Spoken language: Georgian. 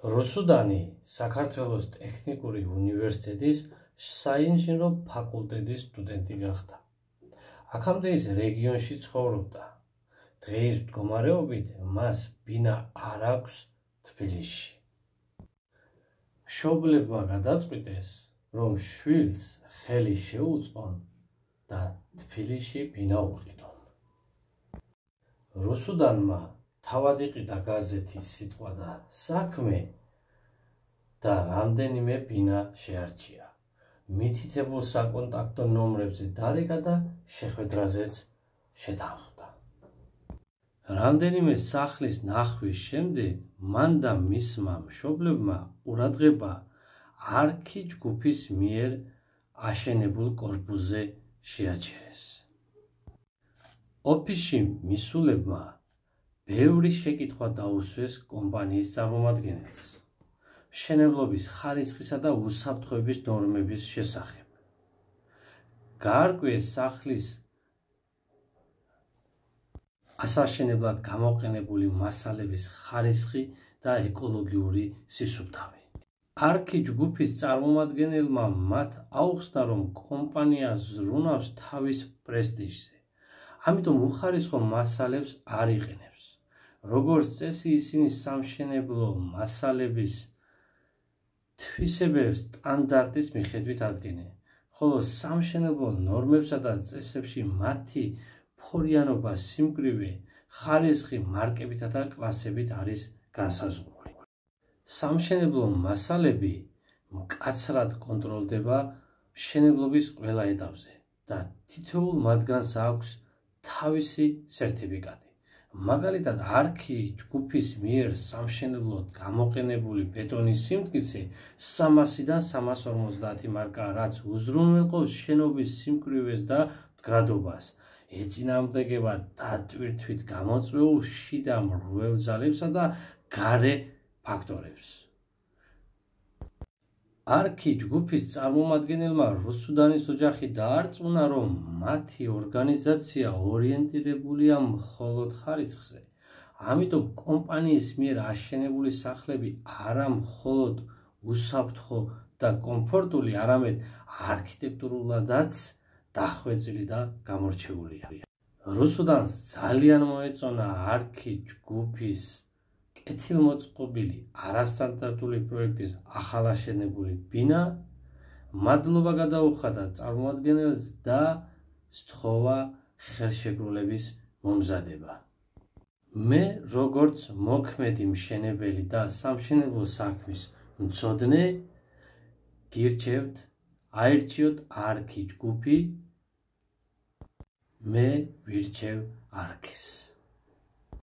რუსუდანი საქართველოს ტექნიკური უნივერსიტეტის საინჟინრო ფაკულტეტის სტუდენტი გახდა. აქამდე ის რეგიონში ცხოვრობდა. დღეის მდგომარეობით მას ბინა არ აქვს თბილისში. მშობლებმა გადაწყვიტეს, რომ შვილს ხელი შეუწყონ და თბილისში ბინა უყიდონ. რუსუდანმა თავად იყიდა გაზეთის სიტყვა და საქმე და რამდენიმე ბინა შეარჩია. მითითებულ საკონტაქტო ნომრებზე დარეკა და შეხვედრაზეც შეთანხმდა. რამდენიმე სახლის ნახვის შემდეგ მან და მისმა მშობლებმა ყურადღება არქი ჯგუფის მიერ აშენებულ კორპუსზე შეაჩერეს. ოფისში მისულებმა ბევრი შეკითხვა დაუსვეს კომპანიის წარმომადგენელს მშენებლობის ხარისხისა და უსაფრთხოების ნორმების შესახებ. გაარკვიეს სახლის ასაშენებლად გამოყენებული მასალების ხარისხი და ეკოლოგიური სისუფთავი. არქი ჯგუფის წარმომადგენელმა მათ აუხსნა, რომ კომპანია ზრუნავს თავის პრესტიჟზე, ამიტომ უხარისხო მასალებს არ იყენებს. როგორც წესი, ისინი სამშენებლო მასალების თვისებებს სტანდარტის მიხედვით ადგენენ, ხოლო სამშენებლო ნორმებსა და წესებში მათი ფორიანობა, სიმკვრივე, ხარისხი მარკებითა და კლასებით არის განსაზღვრული. სამშენებლო მასალები მკაცრად კონტროლდება მშენებლობის ყველა ეტაპზე და თითოეულ მათგანს აქვს თავისი სერტიფიკატი. მაგალითად, არქი ჯგუფის მიერ სამშენებლოდ გამოყენებული ბეტონის სიმტკიცე 300-დან 350 მარკა, რაც უზრუნველყოფს შენობის სიმკვრივეს და მდგრადობას, ეწინააღმდეგება დატვირთვით გამოწვეულ შიდა მრღვევ ძალებსა და გარე ფაქტორებს. არქი ჯგუფის წარმომადგენელმა რუსუდანის ოჯახი დაარწმუნა, რომ მათი ორგანიზაცია ორიენტირებულია მხოლოდ ხარისხზე, ამიტომ კომპანიის მიერ აშენებული სახლები არა მხოლოდ უსაფრთხო და კომფორტული, არამედ არქიტექტურულადაც დახვეწილი და გამორჩეულია. რუსუდანს ძალიან მოეწონა არქი ჯგუფის კეთილმოწყობილი არასტანდარტული პროექტის ახალაშენებული ბინა, მადლობა გადაუხადა წარმომადგენელს და სთხოვა ხელშეკრულების მომზადება. მე, როგორც მოქმედი მშენებელი და სამშენებლო საქმის მცოდნე, გირჩევთ, აირჩიოთ არქი ჯგუფი, მე ვირჩევ არქის.